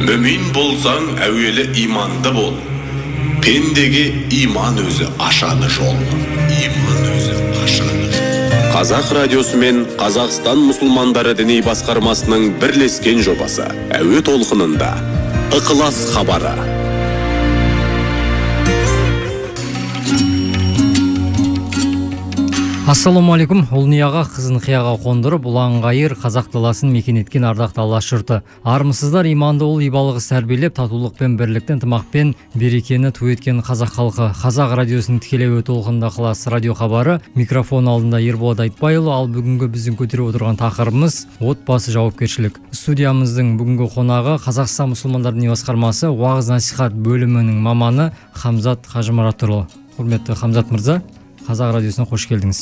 Мүмин болсаң әуелі иманды бол. Пендеге иман өзі ашады жол. Иман өзі ашады жол. Қазақ радиосы мен Қазақстан мұсылмандары діни басқармасының бірлескен жобасы әуе толқынында Ықылас хабары. Ассалаумалейкум, ұлнияға қызын қияға қондырып, ұлан-ғайыр қазақ даласын мекен еткен ардақты Алаш жұрты. Армысыздар, иманды ол ибалық тәрбиелеп, татулық пен бірліктен, ынтымақпен берекені ту еткен қазақ халқы. Қазақ радиосының тікелей өте толқынында Ықылас радио хабары. Микрофон алдында Ерболат Айтбайұлы, ал бүгінгі біздің көтеріп отырған тақырыбымыз отбасы жауапкершілік. Студиямыздың бүгінгі қонағы Қазақстан мұсылмандар діни басқармасы уағыз насихат бөлімінің маманы Хамзат Қажымұратұлы. Құрметті Хамзат мырза, Қазақ радиосына қош келдіңіз.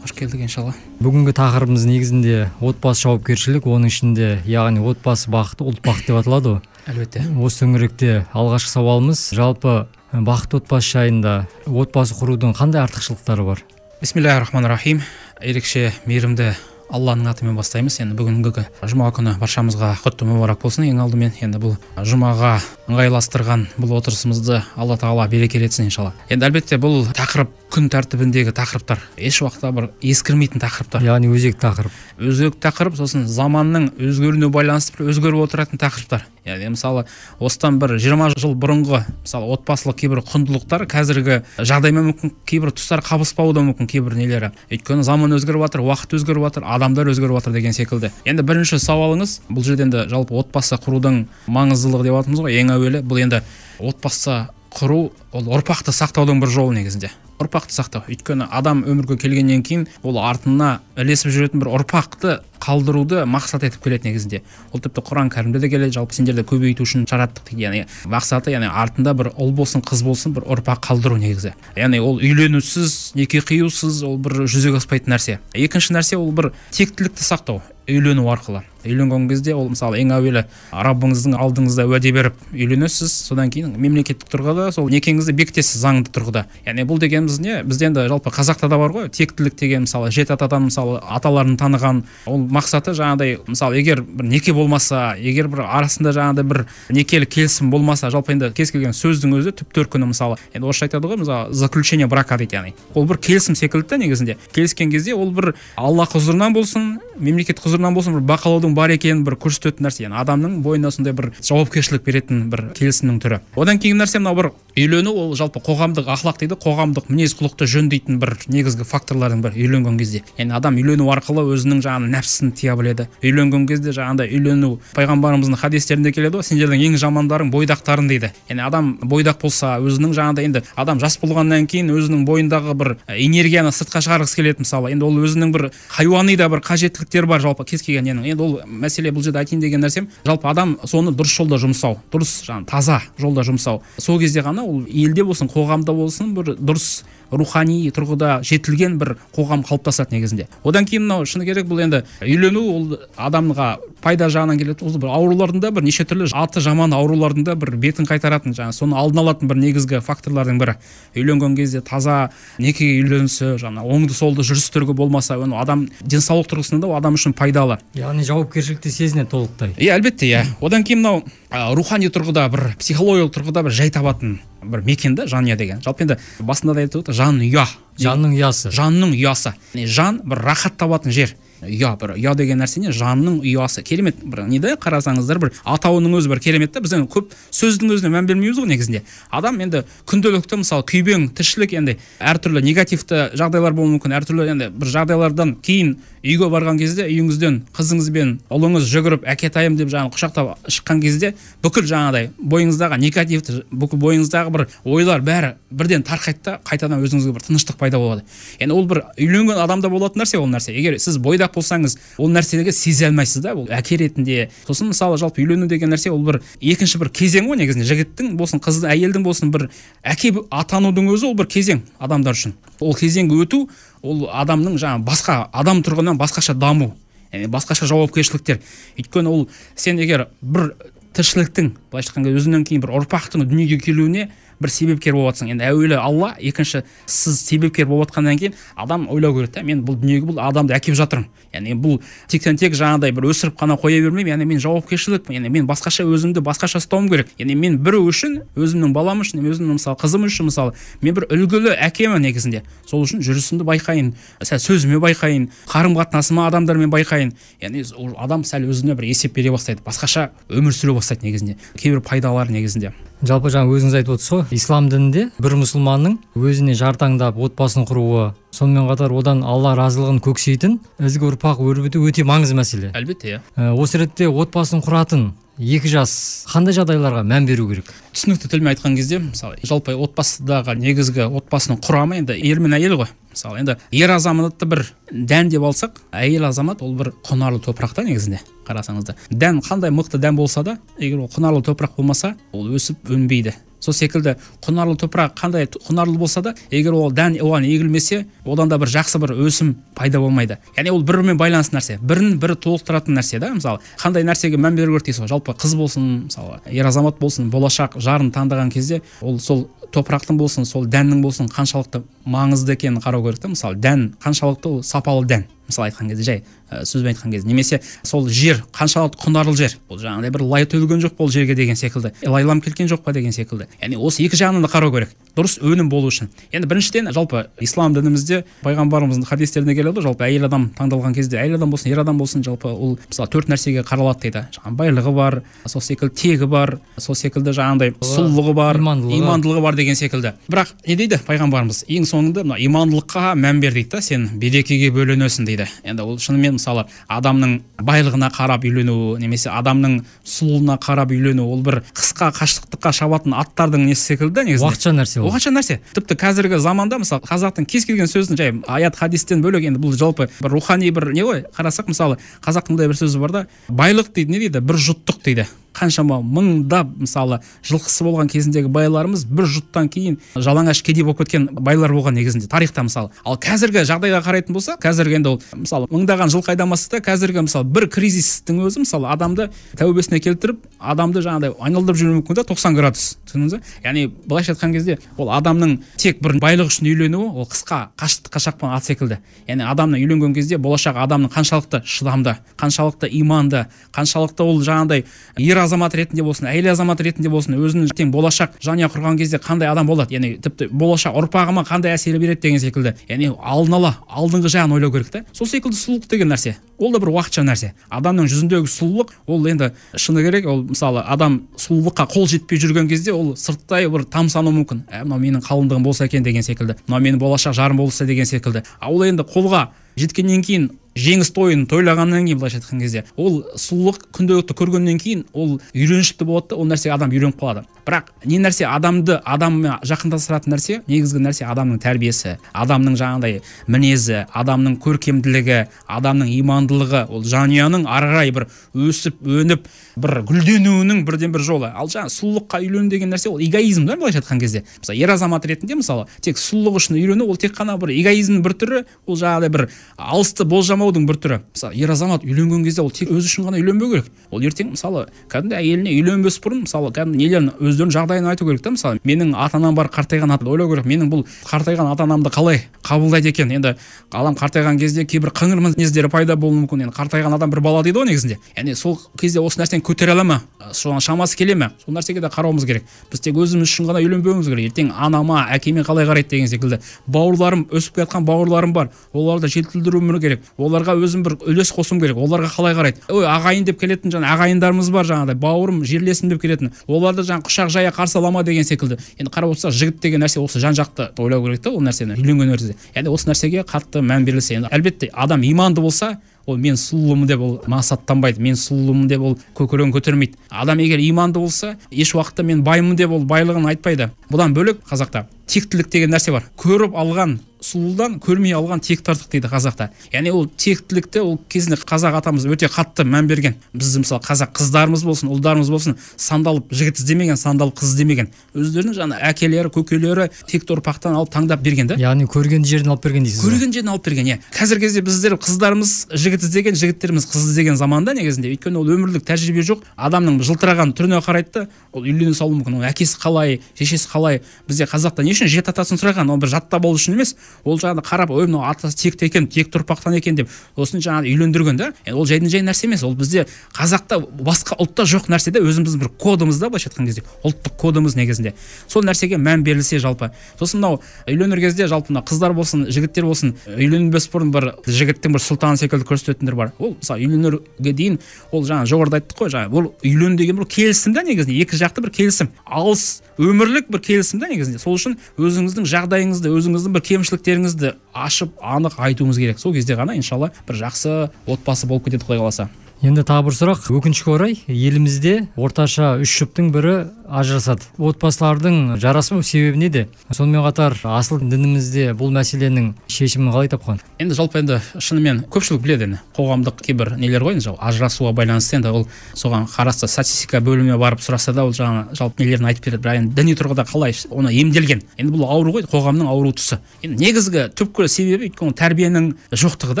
Қош келдік, иншалла. Бүгінгі тақырыбымыз негізінде отбасы жауапкершілік, оның ішінде яғни отбасы бақыты, ұлт бақыты деп аталады ғой. Әлбетте. Осы төңіректе алғашқы сауалымыз, жалпы бақытты отбасы жайында отбасы құрудың қандай артықшылықтары бар? Бисмиллахир-рахманир-рахим. Ерекше мейірімді Алланың атымен бастаймыз. Енді бүгінгі жұма күні баршамызға құтты мүбарак болсын. Ең алдымен енді бұл жұмаға ыңғайластырған бұл отырысымызды Алла Тағала берекелетсін иншалла. Енді әлбетте бұл тақырып күн тәртібіндегі тақырыптар еш уақытта бір ескірмейтін тақырыптар. Яғни өзекті тақырып. Өзекті тақырып, сосын заманның өзгеруіне байланысты бір өзгеріп отыратын тақырыптар. Яғни мысалы осыдан бір 20 жыл бұрынғы мысалы отбасылық кейбір құндылықтар қазіргі жағдаймен мүмкін кейбір тұстар қабыспауы да мүмкін кейбір нелері. Өйткені заман өзгеріп жатыр, уақыт өзгеріп жатыр, адамдар өзгеріп жатыр деген секілді. Енді бірінші сауалыңыз, бұл жерде енді жалпы отбасы құрудың маңыздылығы деп жатырмыз ғой. Ең әуелі бұл енді отбасы құру ол ұрпақты сақтаудың бір жолы негізінде. Ұрпақты сақтау. Өйткені адам өмірге келгеннен кейін ол артына ілесіп жүретін бір ұрпақты қалдыруды мақсат етіп келеді негізінде. Ол тіпті Құран кәрімде де келеді, жалпы сендерді көбейту үшін жараттық дейді. Яғни мақсаты, яғни артында бір ұл болсын, қыз болсын, бір ұрпақ қалдыру негізі. Яғни ол үйленусіз, неке қиюсыз ол бір жүзеге аспайтын нәрсе. Екінші нәрсе ол бір тектілікті сақтау. Үйлену арқылы. Үйленген кезде ол мысалы ең әуелі Раббыңыздың алдыңызда уәде беріп үйленесіз, содан кейін мемлекеттік тұрғыда сол некеңізді бекітесіз заңды тұрғыда. Яғни бұл дегеніміз не? Бізде енді жалпы қазақта да бар ғой, тектілік деген мысалы жеті атадан мысалы аталарын таныған. Ол мақсаты жаңағыдай мысалы егер бір неке болмаса, егер бір арасында жаңағыдай бір некелі келісім болмаса, жалпы енді кез келген сөздің өзі түп төркіні мысалы. Енді орысша айтады ғой, мысалы заключение брака дейді, яғни. Ол бір келісім секілді негізінде. Келіскен кезде ол бір Алла құзырынан болсын, мемлекет құзырынан болсын бір бақылаудың бар екенін бір көрсететін нәрсе. Яғни адамның бойына сондай бір жауапкершілік беретін бір келісімнің түрі. Одан кейін нәрсе мынау бір үйлену, ол жалпы қоғамдық ахлақ дейді, қоғамдық мінез құлықты жөндейтін бір негізгі факторлардың бірі үйленген кезде. Яғни адам үйлену арқылы өзінің жаңағы нәпсісін тия біледі. Үйленген кезде жаңағыдай үйлену пайғамбарымыздың хадистерінде келеді ғой, сендердің ең жамандарың бойдақтарың дейді. Яғни адам бойдақ болса, өзінің жаңағыдай енді адам жас болғаннан кейін өзінің бойындағы бір энергияны сыртқа шығарғысы келеді мысалы. Енді ол өзінің бір хайуани да бір қажеттіліктері бар жалпы кез келген ненің. Енді ол мәселе бұл жерде айтайын деген нәрсем, жалпы адам соны дұрыс жолда жұмсау, дұрыс жаңағы таза жолда жұмсау. Сол кезде ғана ол елде болсын, қоғамда болсын бір дұрыс рухани тұрғыда жетілген бір қоғам қалыптасады негізінде. Одан кейін мынау шыны керек, бұл енді үйлену ол адамға пайда жағынан келеді. Ол бір аурулардың да бір неше түрлі аты жаман аурулардың да бір бетін қайтаратын, жаңа соны алдын алатын бір негізгі факторлардың бірі. Үйленген кезде таза некеге үйленісі, жаңа оңды солды жүрістері болмаса, адам денсаулық тұрғысынан да адам үшін пайдалы. Яғни жауапкершілікті сезінеді толықтай. Әлбетте, Одан кейін мынау рухани тұрғыда бір психологиялық тұрғыда бір жай табатын бір мекенді жанұя деген. Жалпы енді басында да айтып отыр, жанұя. Жанның ұясы. Жанның ұясы. Жан бір рахат табатын жер. Ұя, бір ұя деген нәрсе не? Жанның ұясы. Керемет бір неде қарасаңыздар бір атауының өзі бір керемет та. Біз енді көп сөздің өзіне мән бермейміз ғой негізінде. Адам енді күнделікті мысалы күйбең тіршілік енді әртүрлі негативті жағдайлар болуы мүмкін. Әртүрлі енді бір жағдайлардан кейін үйге барған кезде үйіңізден қызыңызбен ұлыңыз жүгіріп әкетайым деп жаңағы құшақтап шыққан кезде бүкіл жаңағыдай бойыңыздағы негативті, бүкіл бойыңыздағы бір ойлар бәрі бірден тарқайды да қайтадан өзіңізге бір тыныштық пайда болады. Енді ол бір үйленген адамда болатын нәрсе ол нәрсе. Егер сіз бойдақ болсаңыз, ол нәрсеге сезе алмайсыз да, ол әке ретінде. Сосын мысалы жалпы үйлену деген нәрсе ол бір екінші бір кезең ғой негізінде. Жігіттің болсын, қыздың, әйелдің болсын бір әке атанудың өзі ол бір кезең адамдар үшін. Ол кезеңге өту ол адамның жаңа басқа адам тұрғынан басқаша даму, басқаша жауапкершіліктер. Өйткені ол сен егер бір тіршіліктің былайша айтқанда өзінен кейін бір ұрпақтың дүниеге келуіне бір себепкер болып жатсың. Енді әуелі Алла, екінші сіз себепкер болып жатқаннан кейін адам ойлау керек та, мен бұл дүниеге бұл адамды әкеп жатырмын. Яғни бұл тектен тек жаңағыдай бір өсіріп қана қоя бермеймін. Яғни мен жауапкершілік, яғни мен басқаша өзімді басқаша ұстауым керек. Яғни мен біреу үшін, өзімнің балам үшін, өзімнің мысалы қызым үшін мысалы, мен бір үлгілі әкемін негізінде. Сол үшін жүрісімді байқайын, сәл сөзіме байқайын, қарым-қатынасыма адамдармен байқайын. Яғни адам сәл өзіне бір есеп бере бастайды, басқаша өмір сүре бастайды негізінде. Кейбір пайдалар негізінде. Жалпы жаңа өзіңіз айтып отырсыз ғой, ислам дінінде бір мұсылманның өзіне жар таңдап отбасын құруы, сонымен қатар одан Алла разылығын көксейтін ізгі ұрпақ өрбіту өте маңызды мәселе. Әлбетте, иә. Осы ретте отбасын құратын екі жас қандай жағдайларға мән беру керек? Түсінікті тілмен айтқан кезде, мысалы, жалпы отбасыдағы негізгі отбасының құрамы енді ер мен әйел ғой. Мысалы, енді ер азаматты бір дән деп алсақ, әйел азамат ол бір құнарлы топырақта негізінде. Қарасаңызда, дән қандай мықты дән болса да, егер ол құнарлы топырақ болмаса, ол өсіп өнбейді. Сол секілді құнарлы топырақ қандай құнарлы болса да, егер ол дән оған егілмесе, одан да бір жақсы бір өсім пайда болмайды. Яғни ол бір-бірімен байланысты нәрсе, бірін-бірі толықтыратын нәрсе да. Мысалы, қандай нәрсеге мән беру керек дейсіз, жалпы қыз болсын, мысалы, ер азамат болсын, болашақ жарын таңдаған кезде, ол сол топырақтың болсын, сол дәннің болсын, қаншалықты маңызды екенін қарау керек та. Мысалы, дән қаншалықты ол сапалы дән. Мысалы айтқан кезде, жай сөзбен айтқан кезде, немесе сол жер қаншалықты құнарлы жер. Ол жаңағыдай бір лай төгілген жоқ бұл жерге деген секілді, лайлам келген жоқ па деген секілді. Яғни осы екі жағынан да қарау керек, дұрыс өнім болу үшін. Енді біріншіден жалпы ислам дінімізде пайғамбарымыздың хадистеріне келеді, жалпы әйел адам таңдалған кезде, әйел адам болсын, ер адам болсын, жалпы ол мысалы 4 нәрсеге қаралады дейді. Жаңағы байлығы бар, сол секілді тегі бар, сол секілді жаңағыдай сұлулығы бар, имандылығы бар деген секілді. Бірақ не дейді пайғамбарымыз? Ең соңында мына имандылыққа мән бер дейді да, сен берекеге бөленесің дейді. Енді ол шынымен мысалы адамның байлығына қарап үйлену, немесе адамның сұлулығына қарап үйлену, ол бір қысқа қашықтыққа шабатын аттардың несі секілді негізінде. Уақытша нәрсе ол. Уақытша нәрсе. Тіпті қазіргі заманда мысалы қазақтың кез келген сөзін жай аят хадистен бөлек, енді бұл жалпы бір рухани бір не ғой, қарасақ мысалы қазақтың мындай бір сөзі бар да, байлық дейді, не дейді, бір жұттық дейді. Қаншама мыңдап мысалы жылқысы болған кезіндегі байларымыз бір жұттан кейін жалаңаш кедей болып кеткен байлар болған негізінде тарихта мысалы. Ал қазіргі жағдайға қарайтын болса, қазіргі енді ол мысалы мыңдаған жыл айдамасы да қазіргі мысалы бір кризистің өзі мысалы адамды тәубесіне келтіріп, адамды жаңағыдай айналдырып жүруі мүмкін да 90 градус. Түсіндіңіз бе? Яғни былайша айтқан кезде ол адамның тек бір байлық үшін үйленуі ол қысқа қашықтыққа шапқан ат секілді. Яғни адамның үйленген кезде болашақ адамның қаншалықты шыдамды, қаншалықты иманды, қаншалықты ол жаңағыдай ер азамат ретінде болсын, әйел азамат ретінде болсын, өзінің тең болашақ жанұя құрған кезде қандай адам болады, яғни тіпті болашақ ұрпағыма қандай әсер береді деген секілді. Яғни алдын ала алдыңғы жағын ойлау керек та. Сол секілді сұлулық деген нәрсе, ол да бір уақытша нәрсе. Адамның жүзіндегі сұлулық ол енді шыны керек, ол мысалы адам сұлулыққа қол жетпей жүрген кезде ол сырттай бір тамсану мүмкін. Мынау менің қалыңдығым болса екен деген секілді, мынау менің болашақ жарым болса деген секілді. Ол енді қолға жеткеннен кейін, жеңіс тойын тойлағаннан кейін былайша айтқан кезде, ол сұлулық күнделікті көргеннен кейін ол үйреншікті болады да, ол нәрсеге адам үйреніп қалады. Бірақ не нәрсе адамды адаммен жақындастыратын нәрсе, негізгі нәрсе адамның тәрбиесі, адамның жаңағыдай мінезі, адамның көркемділігі, адамның имандылығы, ол жанұяның ары қарай бір өсіп өніп бір гүлденуінің бірден бір жолы. Ал жаңа сұлулыққа үйлену деген нәрсе ол эгоизм да, былайша айтқан кезде. Мысалы ер азамат ретінде мысалы тек сұлулық үшін үйрену ол тек қана бір эгоизмнің бір түрі, ол жаңағыдай бір алысты болжамаудың бір түрі. Мысалы ер азамат үйленген кезде ол тек өзі үшін ғана үйленбеу керек. Ол ертең мысалы кәдімгі әйеліне үйленбес бұрын мысалы кәдімгі нелерін өздерінің жағдайын айту керек та. Мысалы менің ата-анам бар, қартайған ата, ойлау керек, менің бұл қартайған ата-анамды қалай қабылдайды екен. Енді адам қартайған кезде кейбір қыңыр мінездері пайда болуы мүмкін. Енді қартайған адам бір бала дейді ғой негізінде. Яғни сол кезде осы нәрсені көтере ала ма? Соған шамасы келе ме? Сол нәрсеге де қарауымыз керек. Біз тек өзіміз үшін ғана үйленбеуіміз керек. Ертең анама, әкеме қалай қарайды деген секілді. Бауырларым, өсіп келатқан бауырларым бар. Оларды жетілдіруім керек. Оларға өзім бір үлес қосуым керек. Оларға қалай қарайды? Ой, ағайын деп келетін жаңа ағайындарымыз бар жаңағыдай, бауырым, жерлесім деп келетін. Оларды жаңа құшақ жая қарсы алама деген секілді. Енді қарап отырсақ, жігіт деген нәрсе осы жан-жақты ойлау керек та, ол нәрсені үйленген кезде. Яғни осы нәрсеге қатты мән берілсе, енді әлбетте адам иманды болса, ол мен сұлулымын деп ол мақсаттанбайды, мен сұлулымын деп ол көкірегін көтермейді. Адам егер иманды болса, еш уақытта мен баймын деп ол байлығын айтпайды. Бұдан бөлек қазақта тектілік деген нәрсе бар. Көріп алған сұлудан көрмей алған текті артық дейді қазақта. Яғни ол тектілікті ол кезінде қазақ атамыз өте қатты мән берген. Біз мысалы қазақ қыздарымыз болсын, ұлдарымыз болсын, сандалып жігіт іздемеген, сандалып қыз іздемеген. Өздерінің жаңа әкелері, көкелері текті ұрпақтан алып таңдап берген да. Яғни көрген жерден алып берген дейсіз. Көрген жерден алып берген, иә. Қазіргі кезде біздер қыздарымыз жігіт іздеген, жігіттеріміз қыз іздеген заманда негізінде. Өйткені ол өмірлік тәжірибе жоқ. Адамның жылтыраған түріне қарайды, ол үйлене салуы мүмкін. Ол әкесі қалай, шешесі қалай. Бізде қазақта не үшін жеті атасын сұраған? Ол бір жатта болу үшін емес. Ол жаңағы қарап, ой мынау атасы текті екен, текті ұрпақтан екен деп осыны жаңағы үйлендірген да. Ол жайдан жай нәрсе емес. Ол бізде қазақта басқа ұлтта жоқ нәрсе де, өзіміздің бір кодымыз да, былайша айтқан кезде. Ұлттық кодымыз негізінде. Сол нәрсеге мән берілсе жалпы. Сосын мынау үйленер кезде жалпы мына қыздар болсын, жігіттер болсын, үйленбес бұрын бір жігіттің бір сұлтаны секілді көрсететіндер бар. Ол мысалы үйленерге дейін ол жаңа жоғарыда айттық қой, жаңа ол үйлен деген бір келісім да негізінде, екі жақты бір келісім. Алыс өмірлік бір келісім да негізінде. Сол үшін өзіңіздің жағдайыңызды, өзіңіздің бір кемшіліктеріңізді ашып, анық айтуыңыз керек. Сол кезде ғана иншалла бір жақсы отбасы болып кетеді, Құдай қаласа. Енді тағы бір сұрақ. Өкінішке орай елімізде орташа 3 жұптың бірі ажырасады. Отбасылардың жарасымау себебі неде? Сонымен қатар асыл дінімізде бұл мәселенің шешімін қалай тапқан? Енді жалпы енді шынымен көпшілік біледі енді. Қоғамдық кейбір нелер ғой, енді ажырасуға байланысты енді ол соған қарасты статистика бөліміне барып сұраса да ол жаңа жалпы нелерін айтып береді. Бірақ енді діни тұрғыда қалай оны емделген. Енді бұл ауру ғой, қоғамның ауру тұсы. Енді негізгі түпкі себебі өйткені тәрбиенің жоқтығы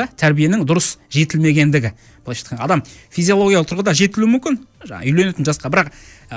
да, тәрбиенің дұрыс жетілмегендігі. Адам физиологиялық тұрғыда жетілуі мүмкін, үйленетін жасқа, бірақ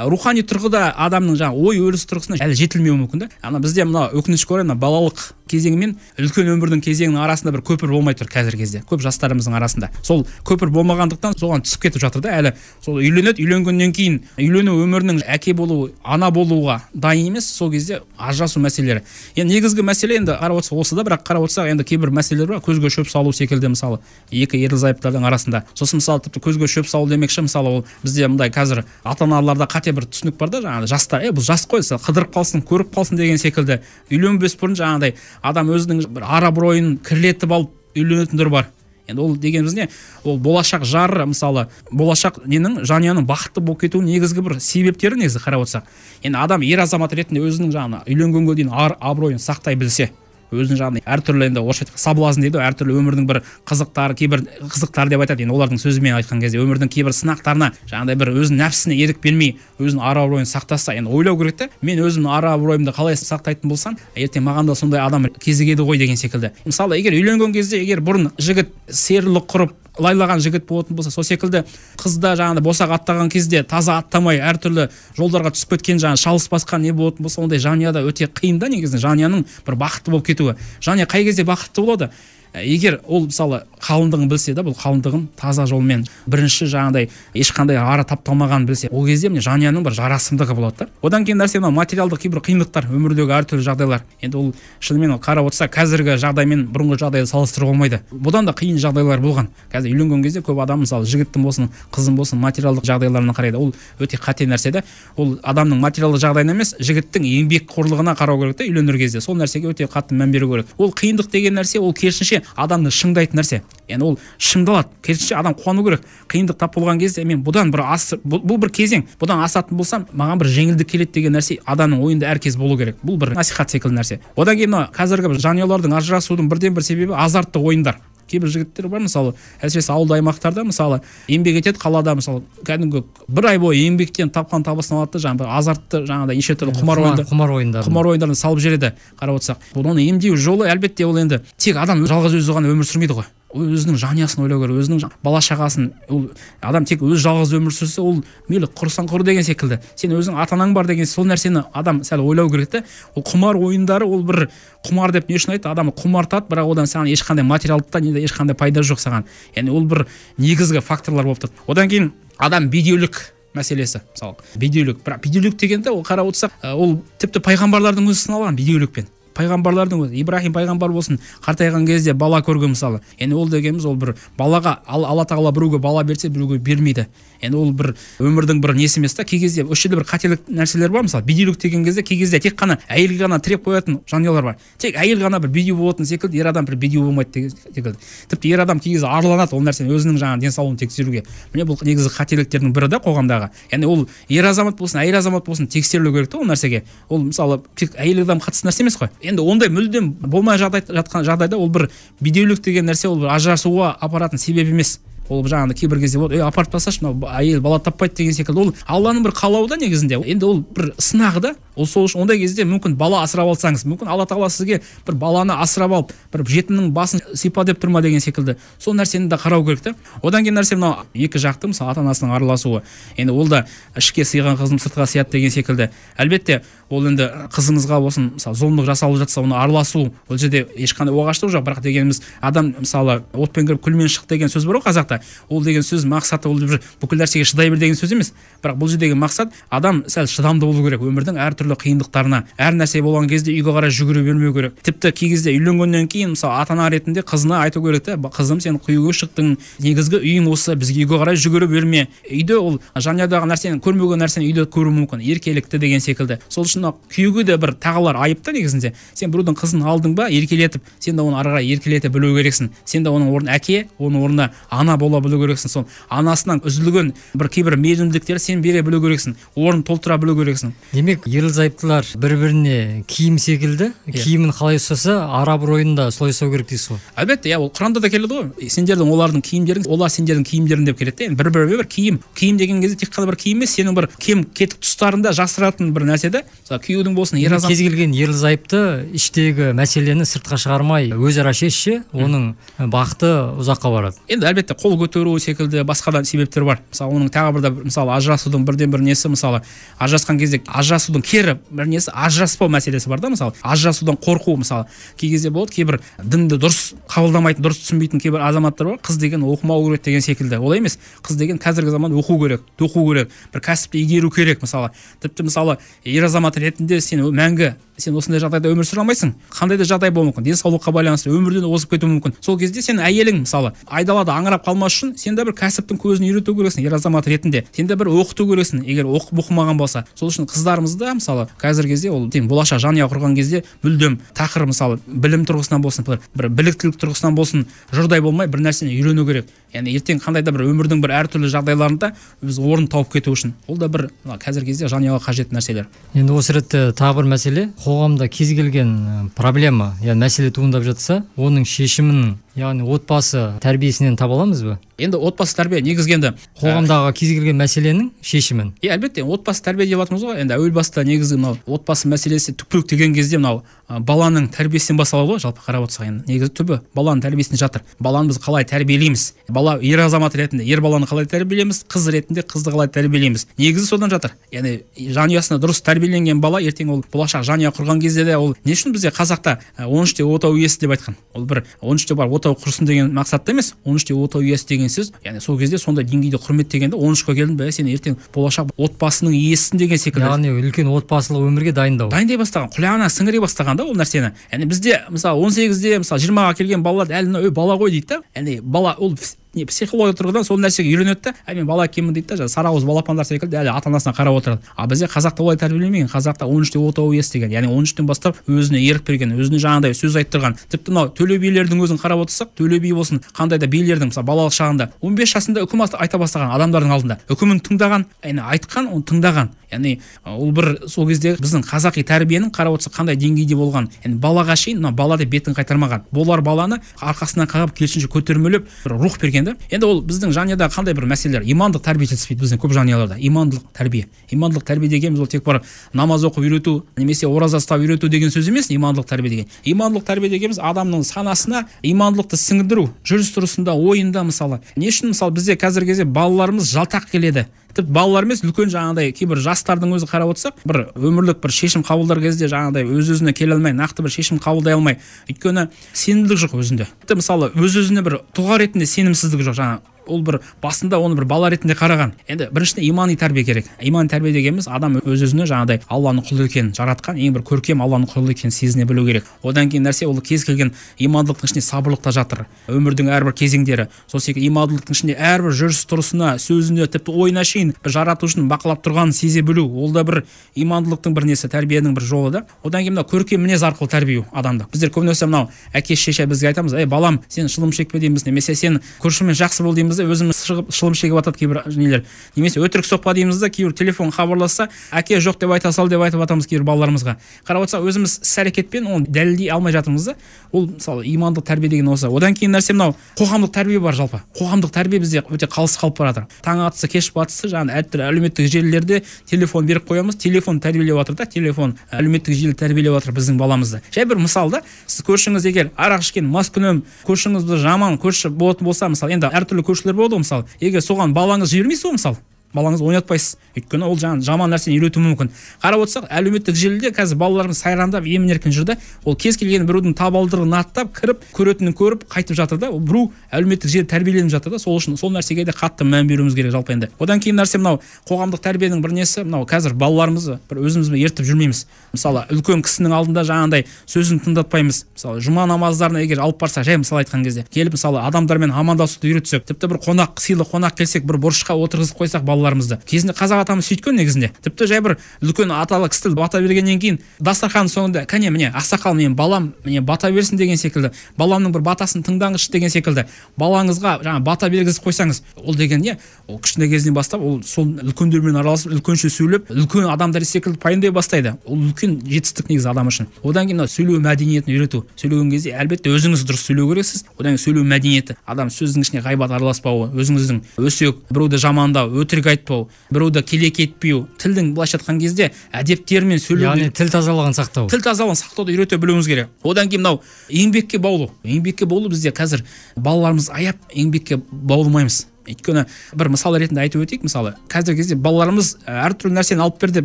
рухани тұрғыда адамның ой өрісі тұрғысынан әлі жетілмеуі мүмкін да. Бізде мына өкінішке орай балалық кезеңі мен үлкен өмірдің кезеңінің арасында бір көпір болмай тұр қазіргі кезде. Көп жастарымыздың арасында. Сол көпір болмағандықтан соған түсіп кетіп жатыр да. Әлі сол үйленеді, үйленгеннен кейін үйлену өмірінің әке болу, ана болуға дайын емес, сол кезде ажырасу мәселелері. Енді негізгі мәселе енді қарап отырсақ осы да, бірақ қарап отырсақ енді кейбір мәселелер бар. Көзге шөп салу секілді мысалы екі ерлі-зайыптардың арасында. Сосын мысалы тіпті көзге шөп салу демекші мысалы ол бізде мындай қазір ата-аналарда қате бір түсінік бар да, жаңағы жастар, бұл жас қой, қыдырып қалсын, көріп қалсын деген секілді. Үйленбес бұрын жаңағыдай адам өзінің бір ара-абыройын кірлетіп алып үйленетіндер бар. Енді ол дегеніміз не? Ол болашақ жары, мысалы, болашақ жанұяның бақытты болып кетуінің негізгі бір себептері негізі қарап отырсақ. Енді адам ер азамат ретінде өзінің жаңағы үйленгенге дейін ар-абыройын сақтай білсе, өзінің жағынан әртүрлі енді орысша айтқанда соблазн дейді, әртүрлі өмірдің бір қызықтары, кейбір қызықтар деп айтады. Енді олардың сөзімен айтқан кезде өмірдің кейбір сынақтарына жаңағыдай бір өзінің нәпсісіне ерік бермей, өзінің ара-абыройын сақтаса, енді ойлау керек та, мен өзімнің ара-абыройымды қалай сақтайтын болсам, ертең маған да сондай адам кезігеді ғой деген секілді. Мысалы, егер үйленген кезде егер бұрын жігіт серілік құрып лайлаған жігіт болатын болса, сол секілді қызда жаңағыдай босақ аттаған кезде таза аттамай әртүрлі жолдарға түсіп кеткен жаңағы шалыс басқан не болатын болса, ондай жанұяда өте қиын да негізінде жанұяның бір бақытты болып кетуі. Жанұя қай кезде бақытты болады? Егер ол мысалы қалыңдығын білсе да, бұл қалыңдығын таза жолмен бірінші жаңағыдай ешқандай ара тапталмағанын білсе, ол кезде міне жанұяның бір жарасымдығы болады да. Одан кейін нәрсе мынау материалдық кейбір қиындықтар, өмірдегі әртүрлі жағдайлар. Енді ол шынымен қарап отырса, қазіргі жағдаймен бұрынғы жағдайды салыстыруға болмайды. Бұдан да қиын жағдайлар болған. Қазір үйленген кезде көп адам мысалы жігіттің болсын, қыздың болсын материалдық жағдайларына қарайды. Ол өте қате нәрсе да. Ол адамның материалдық жағдайына емес, жігіттің еңбекқорлығына қарау керек та үйленер кезде. Сол нәрсеге өте қатты мән беру керек. Ол қиындық деген нәрсе, ол керісінше адамды шыңдайтын нәрсе. Яғни ол шыңдалады. Керісінше адам қуану керек. Қиындық тап болған кезде мен бұдан бір бұл бір кезең, бұдан асатын болсам, маған бір жеңілдік келеді деген нәрсе адамның ойында әркез болу керек. Бұл бір насихат секілді нәрсе. Одан кейін қазіргі жанұялардың ажырасудың бірден бір себебі азартты ойындар. Кейбір жігіттер бар, мысалы, әсіресе ауылды аймақтарда, мысалы, еңбек етеді, қалада, мысалы, кәдімгі бір ай бойы еңбектен тапқан табысын алады, жаңағы азартты, жаңағыдай неше түрлі құмар ойындарын салып жібереді, қарап отырсақ. Оны емдеу жолы әлбетте ол енді тек адам жалғыз өзі ғана өмір сүрмейді ғой. Өзінің жанұясын ойлау керек, өзінің бала-шағасын. Ол адам тек өз жалғыз өмір сүрсе, ол мейлі құрсан құр деген секілді. Сен өзің ата-анаң бар деген сол нәрсені адам сәл ойлау керек те. Ол құмар ойындары, ол бір құмар деп не үшін айтты? Адам құмартады, бірақ одан саған ешқандай материалдықтан ешқандай пайда жоқ саған. Яғни ол бір негізгі факторлар болып тұр. Одан кейін адам бедеулік мәселесі, мысалы, бедеулік. Бірақ бедеулік дегенде ол қарап отырсақ, ол тіпті пайғамбарлардың өзі сыналған бедеулікпен. пайғамбарлардың өзі, Ибрахим пайғамбар болсын, қартайған кезде бала көрген мысалы. Енді ол дегеніміз ол бір балаға Алла тағала біреуге бала берсе, біреуге бермейді. Енді ол бір өмірдің бір несі емес та. Кей кезде осы жерде бір қателік нәрселер бар, мысалы бедеулік деген кезде кей кезде тек қана әйелге ғана тіреп қоятын жанұялар бар. Тек әйел ғана бір бедеу болатын секілді, ер адам бір бедеу болмайды деген секілді. Тіпті ер адам кей кезде арланады ол нәрсені өзінің жаңағы денсаулығын тексеруге. Міне бұл негізгі қателіктердің бірі да қоғамдағы. Яғни ол ер азамат болсын, әйел азамат болсын тексерілу керек та ол нәрсеге. Ол мысалы тек әйел адам қатысты нәрсе емес қой. Енді ондай мүлдем болмай жатқан жағдайда ол бір бедеулік деген нәрсе ол бір ажырасуға апаратын себеп емес. Ол жаңағыдай кейбір кезде болады, апарып тасташы, мынау әйел бала таппайды деген секілді. Ол Алланың бір қалауы да негізінде. Енді ол бір сынағы да. Ол сол үшін ондай кезде мүмкін бала асырап алсаңыз, мүмкін Алла тағала сізге бір баланы асырап алып, бір жетімнің басын сипа деп тұрма деген секілді. Сол нәрсені де қарау керек та. Одан кейін нәрсе мынау екі жақты, мысалы ата-анасының араласуы. Енді ол да ішке сыйған қызым сыртқа сияды деген секілді. Әлбетте, ол енді қызыңызға болсын, мысалы зұлымдық жасалып жатса, оны араласу, ол жерде ешқандай оғаштық жоқ. Бірақ дегеніміз адам мысалы отпен кіріп күлмен шық деген сөз бар ғой қазақта. Ол деген сөз мақсаты ол бір бүкіл нәрсеге шыдай бер деген сөз емес. Бірақ бұл жердегі мақсат адам сәл шыдамды болу керек өмірдің әртүрлі қиындықтарына. Әр нәрсе болған кезде үйге қарай жүгіре бермеу керек. Тіпті кей кезде үйленгеннен кейін мысалы ата-ана ретінде қызына айту керек те, қызым сен құйға шықтың, негізгі үйің осы, бізге үйге қарай жүгіре берме. Үйде ол жанұядағы нәрсені көрмеген нәрсені үйде көру мүмкін, еркелікті деген секілді. Сол үшін күйеуге де бір тағылар айыпты негізінде. Сен біреудің қызын алдың ба, еркелетіп, сен де оны ары қарай еркелете білу керексің. Сен де оның орнына әке, оның орнына ана бола білу керексің. Сол анасынан үзілген бір кейбір мейірімділіктер сен бере білу керексің, орнын толтыра білу керексің. Демек, ерлі-зайыптылар бір-біріне киім секілді, киімін қалай ұстаса, ара-абыройын да солай ұстау керек дейсіз ғой. Әлбетте, ол Құранда да келеді ғой. Сендердің олардың киімдерің, олар сендердің киімдерің деп келеді. Бір-біріне бір киім. Киім деген кезде тек қана бір киім емес, сенің бір кем кетік тұстарында жасыратын бір нәрсе да. Мысалы, күйеудің болсын, ер азамат. Кез келген ерлі-зайыпты іштегі мәселені сыртқа шығармай, өзара шешсе, оның бақыты ұзаққа барады. Енді әлбетте қол көтеру секілді басқа да себептер бар. Мысалы, оның тағы бір мысалы ажырасудың бірден бір несі, мысалы, ажырасқан кезде ажырасудың кері бір несі ажыраспау мәселесі бар да, мысалы. Ажырасудан қорқу, мысалы, кей кезде болады, кейбір дінді дұрыс қабылдамайтын, дұрыс түсінбейтін кейбір азаматтар бар. Қыз деген оқымау керек деген секілді. Олай емес. Қыз деген қазіргі заманда оқу керек, тоқу керек, бір кәсіпті игеру керек, мысалы. Тіпті мысалы, ер азамат ретінде сен мәңгі сен осындай жағдайда өмір сүре алмайсың. Қандай да жағдай болуы мүмкін, денсаулыққа байланысты өмірден озып кетуі мүмкін. Сол кезде сен әйелің мысалы айдалада аңырап қалмас үшін сен де бір кәсіптің көзін үйрету керексің, ер азамат ретінде. Сен де бір оқыту керексің, егер оқымаған болса. Сол үшін қыздарымызда мысалы қазіргі кезде ол болашақ жанұя құрған кезде мүлдем тақыр мысалы білім тұрғысынан болсын, бір біліктілік тұрғысынан болсын, жұрдай болмай бір нәрсені үйрену керек. Яғни ертең қандай да бір өмірдің бір әртүрлі жағдайларында біз орын тауып кету үшін. Ол да бір қазіргі кезде жанұяға қажет нәрселер. Енді осы ретте тағы бір мәселе, қоғамда кез келген проблема, яғни мәселе туындап жатса, оның шешімін, яғни отбасы тәрбиесінен таба аламыз ба? Енді отбасы тәрбие негізгенде қоғамдағы кез келген мәселенің шешімін. Әлбетте, отбасы тәрбие деп жатырмыз ғой. Енді әуел баста негізі мынау отбасы мәселесі түпкілік деген кезде мынау баланың тәрбиесінен басталады ғой, жалпы қарап отырсақ енді. Негізі түбі баланың тәрбиесінде жатыр. Баланы біз қалай тәрбиелейміз? Бала ер азамат ретінде ер баланы қалай тәрбиелейміз? Қыз ретінде қызды қалай тәрбиелейміз? Негізі содан жатыр. Яғни жанұясына дұрыс тәрбиеленген бала ертең ол болашақ жанұя құрған кезде де ол не үшін бізде қазақта 13-те отау иесі деп айтқан? Ол бір 13-те бар отау құрсын деген мақсатта емес, 13-те отау иесі деген сөз. Яғни сол кезде сондай деңгейде құрметтегенде 13-ке келдің бе, сен ертең болашақ отбасының иесісің деген секілді. Яғни үлкен отбасылық өмірге дайындай бастаған, құлағына сіңіре бастаған да ол нәрсені. Яғни бізде мысалы 18-де, мысалы 20-ға келген балалар әлі бала ғой дейді да. Яғни бала ол психология тұрғыдан сол нәрсеге үйренеді да. Мен бала екенмін дейді да, сарауыз балапандар секілді әлі ата-анасына қарап отырады. А бізде қазақта олай тәрбиелемеген. Қазақта 13-те отау иесі деген, яғни 13-тен бастап өзіне ерік берген, өзіне жаңағыдай сөз айттырған. Тіпті мынау төле билердің өзін қарап отырсақ, төле би болсын, қандай да билердің мысалы балалық шағында 15 жасында үкім айта бастаған адамдардың алдында. Үкімін тыңдаған, яғни айтқан, оны тыңдаған. Яғни ол бір сол кезде біздің қазақи тәрбиенің қарап отырсақ қандай деңгейде болған. Яғни балаға шейін бала деп бетін қайтармаған. Болар баланы арқасынан қағып керісінше көтермелеп бір рух берген да. Енді ол біздің жанұяда қандай бір мәселелер, имандық тәрбие жетіспейді біздің көп жанұяларда. Имандылық тәрбие. Имандылық тәрбие дегеніміз ол тек бір намаз оқып үйрету, немесе ораза ұстап үйрету деген сөз емес, имандылық тәрбие деген. Имандылық тәрбие дегеніміз адамның санасына имандылықты сіңдіру, жүріс-тұрысында, ойында мысалы. Не үшін мысалы бізде қазіргі кезде балаларымыз жалтақ келеді. Тіпті балалар емес, үлкен жаңағыдай кейбір жастардың өзі қарап отырсақ, бір өмірлік бір шешім қабылдар кезде жаңағыдай өз-өзіне келе алмай, нақты бір шешім қабылдай алмай, өйткені сенімділік жоқ өзінде. Тіпті мысалы өз-өзіне бір тұлға ретінде сенімсіздік жоқ, жаңа ол бір басында оны бір бала ретінде қараған. Енді біріншіден имани тәрбие керек. Имани тәрбие дегеніміз адам өз-өзіне жаңағыдай Алланың құлы екенін жаратқан, ең бір көркем Алланың құлы екенін сезіне білу керек. Одан кейін нәрсе ол кез келген имандылықтың ішінде сабырлық та жатыр. Өмірдің әрбір кезеңдері, сол секілді имандылықтың ішінде әрбір жүріс-тұрысына, сөзіне, тіпті ойына шейін жаратушының бақылап тұрғанын сезе білу, ол да бір имандылықтың бір несі, тәрбиенің бір жолы да. Одан кейін мына көркем мінез арқылы тәрбиелеу адамды. Біздер көбінесе мынау әке шеше бізге айтамыз, балам, сен шылым шекпе дейміз, немесе сен көршімен жақсы бол дейміз, өзіміз шығып шылым шегіп жатады кейбір нелер. Немесе өтірік соқпа дейміз да, кейбір телефон хабарласса, әке жоқ деп айта сал деп айтып жатамыз кейбір балаларымызға. Қарап отырсақ, өзіміз іс-әрекетпен оны дәлелдей алмай жатырмыз да. Ол мысалы имандық тәрбие деген осы. Одан кейін нәрсе мынау қоғамдық тәрбие бар жалпы. Қоғамдық тәрбие бізде өте қалыс қалып бара жатыр. Таң атысы, кеш батысы, жаңағы әртүрлі әлеуметтік желілерде телефон беріп қоямыз, телефон тәрбиелеп жатыр да, телефон әлеуметтік желі тәрбиелеп жатыр біздің баламызды. Жай бір мысал да, сіз көршіңіз егер арақ ішкен, маскүнем, көршіңіз жаман көрші болатын болса, мысалы, енді әртүрлі көршілер болады ғой, мысалы, егер соған балаңыз жібермейсіз ғой, мысалы, балаңыз ойнатпайсыз, өйткені ол жаман нәрсені үйретуі мүмкін. Қарап отырсақ, әлеуметтік желіде қазір балаларымыз сайрандап емін-еркін жүрді. Ол кез келген біреудің табалдырығын аттап кіріп, көретінін көріп қайтып жатыр да. Ол біреу әлеуметтік желі тәрбиеленіп жатыр да. Сол үшін сол нәрсеге де қатты мән беруіміз керек жалпы енді. Одан кейін нәрсе мынау қоғамдық тәрбиенің бір несі, мынау қазір балаларымызды бір өзімізбен ертіп жүрмейміз. Мысалы, үлкен кісінің алдында жаңағындай сөзін тыңдатпаймыз. Мысалы, жұма намаздарына егер алып барсақ, жай мысал айтқан кезде, келіп мысалы адамдармен амандасуды үйретсек, тіпті бір сыйлы қонақ келсек, бір бұрышқа отырғызып қойсақ балаларымызды. Кезінде қазақ атамыз сөйткен негізінде. Тіпті жай бір үлкен аталы кісі бата бергеннен кейін дастархан соңында кәне міне ақсақал менің балам міне бата берсін деген секілді, баламның бір батасын тыңдаңызшы деген секілді балаңызға жаңа бата бергізіп қойсаңыз, ол деген не? Ол кішкентай кезінен бастап ол сол үлкендермен араласып, үлкенше сөйлеп, үлкен адамдар секілді пайымдай бастайды. Ол үлкен жетістік негізі адам үшін. Одан кейін сөйлеу мәдениетін үйрету. Сөйлеген кезде әлбетте өзіңіз дұрыс сөйлеу керексіз. Одан кейін сөйлеу мәдениеті. Адам сөздің ішіне ғайбат араласпауы, өзіңіздің өсек, біреуді жамандау, өтірік айтпау, біреуді келеке етпеу, тілдің былайша айтқан кезде әдептермен сөйлеу. Яғни тіл тазалығын сақтау. Тіл тазалығын сақтауды үйрете білуіміз керек. Одан кейін мынау еңбекке баулу. Еңбекке баулу бізде қазір балаларымыз аяп еңбекке баулымаймыз. Өйткені бір мысал ретінде айтып өтейік, мысалы, қазіргі кезде балаларымыз әртүрлі нәрсені алып берді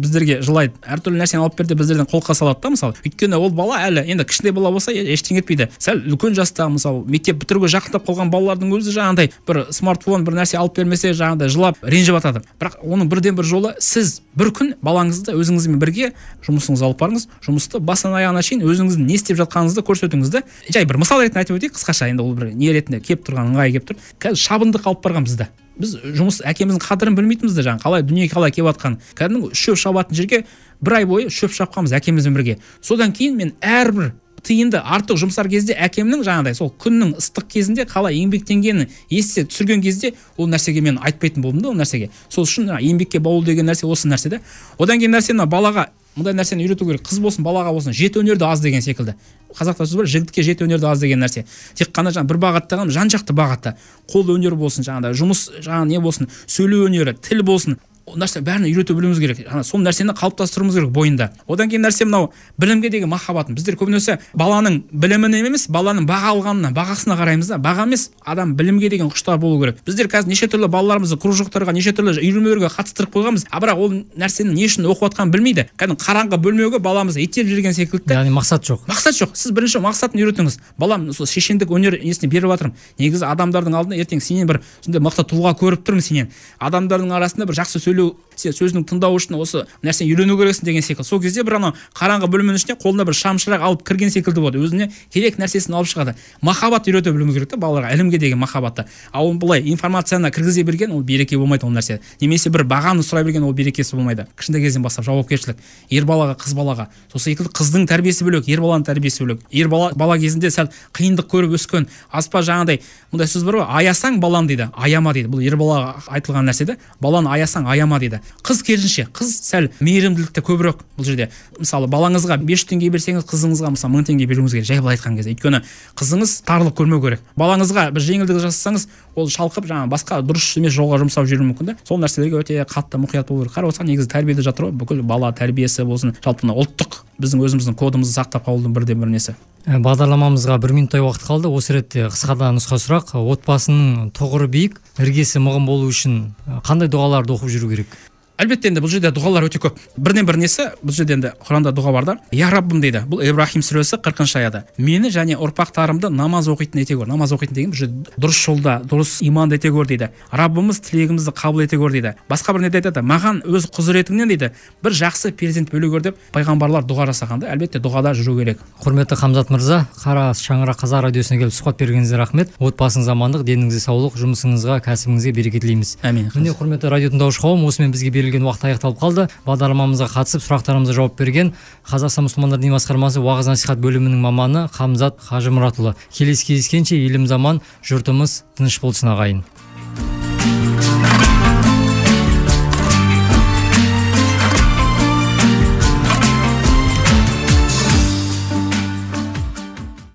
біздерге жылайды, әртүрлі нәрсені алып берді біздерден қолқа салады да, мысалы. Өйткені ол бала әлі енді кішкентай бала болса ештеңе етпейді. Сәл үлкен жаста, мысалы, мектеп бітіруге жақындап қалған балалардың өзі жаңағындай бір смартфон, бір нәрсе алып бермесе жаңағындай жылап, ренжіп жатады. Бірақ оның бірден бір жолы сіз бір күн балаңызды өзіңізбен бірге жұмысыңызға алып барыңыз, жұмысты басынан аяғына шейін өзіңіздің не істеп жатқаныңызды көрсетіңіз да. Жай бір мысал ретінде айтып өтейік қысқаша, енді ол бір не ретінде келіп тұрған ыңғайы келіп тұр. Қазір шабындық алып барған бізді. Біз жұмыс әкеміздің қадірін білмейтінбіз де, жаңа қалай дүниеге қалай келіп жатқанын. Кәдімгі шөп шабатын жерге бір ай бойы шөп шапқанбыз әкемізбен бірге. Содан кейін мен әрбір тиынды артық жұмсар кезде әкемнің жаңағыдай сол күннің ыстық кезінде қалай еңбектенгенін есте түсірген кезде ол нәрсеге мен айтпайтын болдым да, ол нәрсеге. Сол үшін еңбекке баулу деген нәрсе осы нәрсе да. Одан кейін нәрсе мына балаға мындай нәрсені үйрету керек. Қыз болсын, балаға болсын, жеті өнерді аз деген секілді. Қазақта сөз бар, жігітке жеті өнерді аз деген нәрсе. Тек қана бір бағытта ғана, жан-жақты бағытта. Қол өнері болсын, жаңағыдай жұмыс, жаңағы не болсын, сөйлеу өнері, тіл болсын. Ол нәрсе бәрін үйрете білуіміз керек. Сол нәрсені қалыптастыруымыз керек бойында. Одан кейін нәрсе мынау білімге деген махаббатын. Біздер көбінесе баланың біліміне емес, баланың баға алғанына, бағасына қараймыз да. Баға емес, адам білімге деген құштар болу керек. Біздер қазір неше түрлі балаларымызды кружоктарға, неше түрлі үйірмелерге қатыстырып қойғанбыз. Бірақ ол нәрсені не үшін оқып жатқанын білмейді. Кәдімгі қараңғы бөлмеге баламызды итеріп жүрген секілді. Яғни мақсат жоқ. Мақсат жоқ. Сіз бірінші мақсатын үйретіңіз. Балам, сол шешендік өнер несіне беріп жатырмын. Негізі адамдардың алдында ертең сенен бір сондай мықты тұлға көріп тұрмын сенен. Адамдардың арасында бір жақсы сен сөзінің тыңдау үшін осы нәрсені үйрену керексің деген секілді. Сол кезде бір ана қараңғы бөлменің ішіне қолына бір шамшырақ алып кірген секілді болады. Өзіне керек нәрсесін алып шығады. Махаббат үйрете білуіміз керек та балаларға, ілімге деген махаббатты. Ал былай информацияны кіргізе берген ол береке болмайды ол нәрсе. Немесе бір бағаны сұрай берген ол берекесі болмайды. Кішкентай кезден бастап жауапкершілік. Ер балаға, қыз балаға. Сол секілді қыздың тәрбиесі бөлек, ер баланың тәрбиесі бөлек. Ер бала кезінде сәл қиындық көріп өскен, аспа жаңағыдай мындай сөз бар ғой, аясаң баланы дейді, аяма дейді. Бұл ер балаға айтылған нәрсе де, баланы аясаң аяма дейді. Қыз керісінше, қыз сәл мейірімділікте көбірек бұл жерде. Мысалы, балаңызға 500 теңге берсеңіз, қызыңызға мысалы 1000 теңге беруіңіз керек, жай былай айтқан кезде. Өйткені қызыңыз тарлық көрмеу керек. Балаңызға бір жеңілдік жасасаңыз, ол шалқып жаңа басқа дұрыс емес жолға жұмсап жүруі мүмкін да. Сол нәрселерге өте қатты мұқият болу керек. Қарап отырсақ, негізі тәрбиеде жатыр ғой, бүкіл бала тәрбиесі болсын, жалпы ұлттық біздің өзіміздің кодымызды сақтап қалудың бірден бір несі. Бағдарламамызға 1 минуттай уақыт қалды. Осы ретте қысқада нұсқа сұрақ. Отбасының тұғыры биік, іргесі мығым болу үшін қандай дұғаларды оқып жүру керек? Әлбетте енді бұл жерде дұғалар өте көп. Бірден бір несі, бұл жерде енді Құранда дұға бар да. Я Раббым дейді. Бұл Ибрахим сүресі 40-шы аята. Мені және ұрпақтарымды намаз оқитын ете көр. Намаз оқитын деген бұл жерде дұрыс жолда, дұрыс иманды ете көр дейді. Раббымыз тілегімізді қабыл ете көр дейді. Басқа бір неде айтады, маған өз құзыретіңнен дейді, бір жақсы перзент бөле көр деп пайғамбарлар дұға жасағанда, әлбетте дұғада жүру керек. Құрметті Хамзат мырза, Қара Шаңырақ Қазақ радиосына келіп сұхбат бергеніңізге рахмет. Отбасыңыз амандық, деніңізге саулық, жұмысыңызға, кәсібіңізге береке тілейміз. Әмин. Міне, құрметті радио тыңдаушы қауым, осымен бізге берілген уақыт аяқталып қалды. Бағдарламамызға қатысып, сұрақтарымызға жауап берген Қазақстан мұсылмандар діни басқармасы уағыз насихат бөлімінің маманы Хамзат Қажымұратұлы. Келесі кездескенше елім заман, жұртымыз тыныш болсын ағайын.